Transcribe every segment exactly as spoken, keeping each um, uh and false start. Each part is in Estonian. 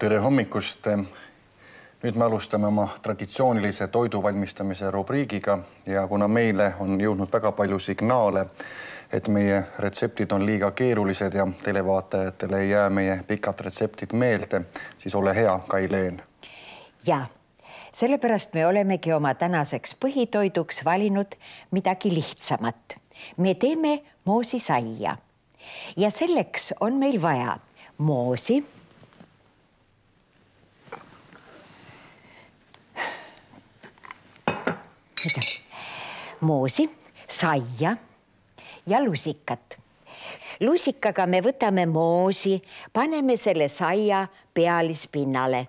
tere hommikust! Nüüd me alustame oma traditsioonilise toidu valmistamise rubriigiga ja kuna meile on jõudnud väga palju signaale, et meie retseptid on liiga keerulised ja televaatajatele ei jää meie pikad retseptid meelde, siis ole hea, Kai-Leen. Ja, sellepärast me olemegi oma tänaseks põhitoiduks valinud midagi lihtsamat. Me teeme moosisaia ja selleks on meil vaja moosi, moosi, saia ja lusikat. Lusikaga me võtame moosi, paneme selle saia pealispinnale.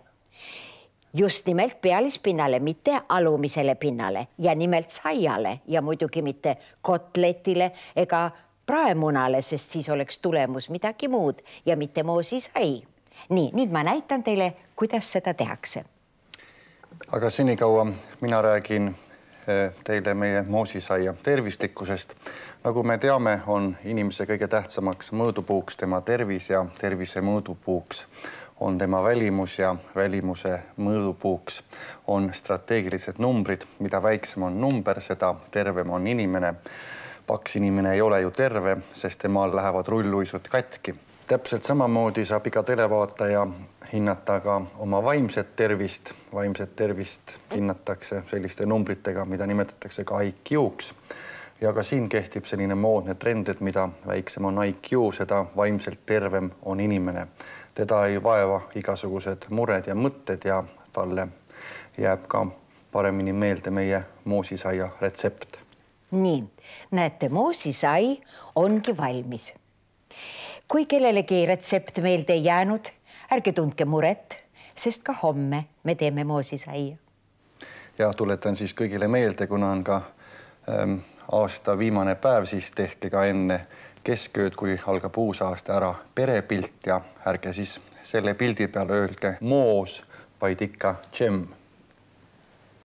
Just nimelt pealispinnale, mitte alumisele pinnale ja nimelt saiale ja muidugi mitte kotletile ega praemunale, sest siis oleks tulemus midagi muud ja mitte moosisai. Nii, nüüd ma näitan teile, kuidas seda tehakse. Aga senikaua mina räägin teile meie moosisaia tervislikkusest. Nagu me teame, on inimese kõige tähtsamaks mõõdupuuks tema tervis ja tervise mõõdupuuks on tema välimus ja välimuse mõõdupuuks on strateegilised numbrid. Mida väiksem on number, seda tervem on inimene. Paks inimene ei ole ju terve, sest temal lähevad rulluisud katki. Täpselt samamoodi saab iga televaataja hinnata ka oma vaimset tervist. Vaimset tervist hinnatakse selliste numbritega, mida nimetatakse ka I Q-ks. Ja ka siin kehtib selline moodne trend, et mida väiksem on I Q, seda vaimselt tervem on inimene. Teda ei vaeva igasugused mured ja mõtted ja talle jääb ka paremini meelde meie moosisaia retsept. Nii, näete, moosisai ongi valmis. Kui kellelegi retsept meelde ei jäänud, ärge tundke muret, sest ka homme me teeme moosisaia. Ja tuletan siis kõigile meelde, kuna on ka ähm, aasta viimane päev, siis tehke ka enne keskööd, kui algab uus aasta ära perepilt ja ärge siis selle pildi peale öelge moos, vaid ikka džem.